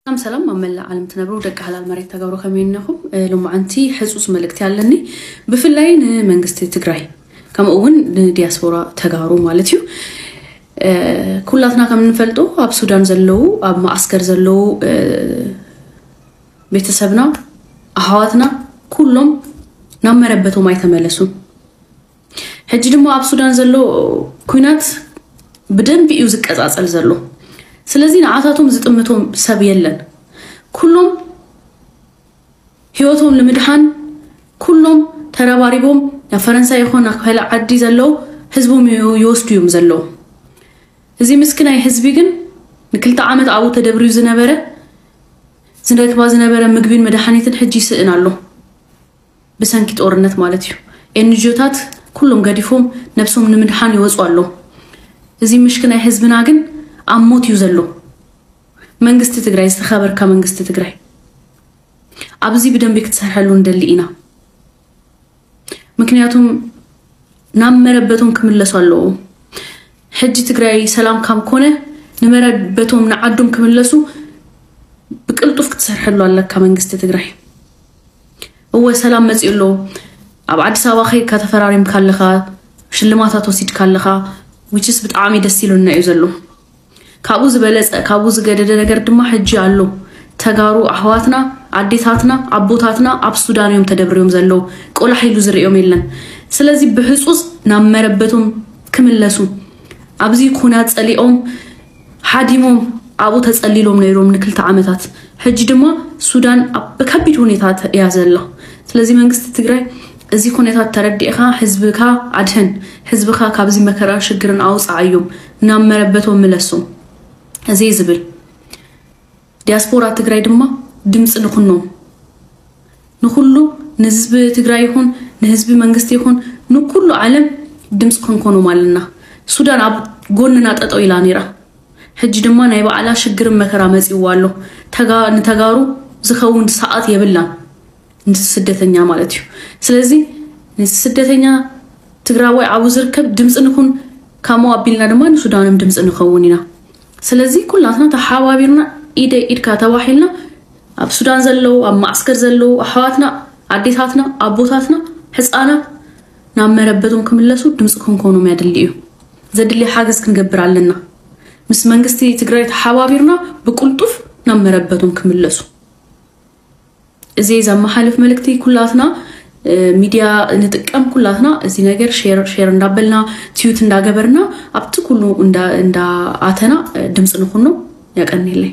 ሰላም ሰላም፣ ኣብ መላእ ዓለም ትነብሩ ደቂ ሓላል መሬት ተጋሩ ከመይ ኣለኹም? እ፣ ሎማዓንቲ ሕጹጽ መልእክቲ ኣለኒ፣ ብፍላይ ንመንግስቲ ትግራይ፣ ከምኡ እውን ንዲያስፖራ ተጋሩ ማለት እዩ። እ፣ ኩላትና ከም እንፈልጦ ኣብ ሱዳን ዘለዉ፣ ኣብ ማዓስከር ዘለዉ፣ እ፣ ቤተሰብና፣ ኣሕዋትና ኩሎም ናብ መረበቶም ኣይተመለሱን። ሕጂ ድማ ኣብ ሱዳን ዘሎ ኩናት ብደንቢ እዩ ዝቀጻጸል ዘሎ። ስለዚ ንዓታቶም ዝጥምቶም ሰብ የለን። ኩሎም ህይወቶም ንምድሓን ኩሎም ተረባሪቦም ናብ ፈረንሳ ይኹን ናብ ካልእ ዓዲ ዘለዉ ህዝቦም ይወስዱ እዮም ዘለዉ። እዚ ምስክናይ ህዝቢ ግን ንክልተ ዓመት ኣብኡ ተደብርዩ ዝነበረ፣ ዝረክባ ዝነበረ ምግቢን መድሓኒትን ሕጂ ይስእን ኣሎ። ብሰንኪ ጦርነት ማለት እዩ። ኤንጂኦታት ኩሎም ገዲፎም ነብሶም ንምድሓን ይወፁ ኣለዉ። እዚ ምሽክናይ ህዝብና ግን ኣብ ሞት እዩ ዘሎ። መንግስቲ ትግራይ፣ ዝተኸበርካ መንግስቲ ትግራይ፣ ኣብዚ ብደንቢ ክትሰርሐሉ ንደሊ ኢና። ምክንያቱም ናብ መረበቶም ክምለሱ ኣለዎም። ሕጂ ትግራይ ሰላም ካብ ኮነ ንመረበቶም ንዓዶም ክምለሱ ብቅልጡፍ ክትሰርሐሉ ኣለካ መንግስቲ ትግራይ። እወ ሰላም መፂኡ ኣሎ። ኣብ ኣዲስ ኣበባ ከይድካ ተፈራሪምካ ኣለኻ፣ ሽልማታት ወሲድካ ኣለኻ፣ which is ብጣዕሚ ደስ ኢሉና እዩ ዘሎ። ካብኡ ዝበለፀ ካብኡ ዝገደደ ነገር ድማ ሕጂ ኣሎ። ተጋሩ ኣሕዋትና ኣዴታትና ኣቦታትና ኣብ ሱዳን እዮም ተደብርዮም ዘለዉ። ቆላሕ ኢሉ ዝርእዮም የለን። ስለዚ ብሕፁፅ ናብ መረበቶም ክምለሱ፣ ኣብዚ ኩናት ፀሊኦም ሓዲሞም ኣብኡ ተፀሊሎም ነይሮም ንክልተ ዓመታት። ሕጂ ድማ ሱዳን ኣብ ከቢድ ሁኔታ እያ ዘላ። ስለዚ መንግስቲ ትግራይ እዚ ኩነታት ተረዲእኻ ህዝብካ ኣድሕን፣ ህዝብኻ ካብዚ መከራ ሽግርን ኣውፅኣዮም፣ ናብ መረበቶም ምለሶም። እዚ ዝብል ዲያስፖራ ትግራይ ድማ ድምፂ ንኹኖም፣ ንኩሉ ንህዝቢ ትግራይ ይኹን ንህዝቢ መንግስቲ ይኹን ንኩሉ ዓለም ድምፂ ክንኮኖም ኣለና። ሱዳን ኣብ ጎንና ጠጠው ኢላ ነይራ፣ ሕጂ ድማ ናይ ባዕላ ሽግርን መከራ መፂዋ ኣሎ። ተጋ- ንተጋሩ ዝኸውን ሰዓት የብላን፣ ንስደተኛ ማለት እዩ። ስለዚ ንስደተኛ ትግራዋይ ኣብኡ ዝርከብ ድምፂ ንኹን፣ ከምኡ ኣቢልና ድማ ንሱዳንም ድምፂ ንኸውን ኢና። ስለዚ ኩላትና ተሓባቢርና ኢደ ኢድካ ተባሂልና ኣብ ሱዳን ዘለዉ ኣብ ማዕስከር ዘለዉ ኣሕዋትና ኣዴታትና ኣቦታትና ሕፃናት ናብ መረበቶም ክምለሱ ድምፂ ክንኮኖም ያድሊ እዩ። ዘድሊ ሓገዝ ክንገብር ኣለና። ምስ መንግስቲ ትግራይ ተሓባቢርና ብቁልጡፍ ናብ መረበቶም ክምለሱ። እዚ ዘመሓልፍ መልእክቲ ኩላትና ሚድያ ንጥቀም ኩላትና እዚ ነገር ሼር ሼር እንዳበልና ትዩት እንዳገበርና ኣብቲ ኩሉ እንዳኣተና ድምፂ ንኩኖ። ያቀኒለይ።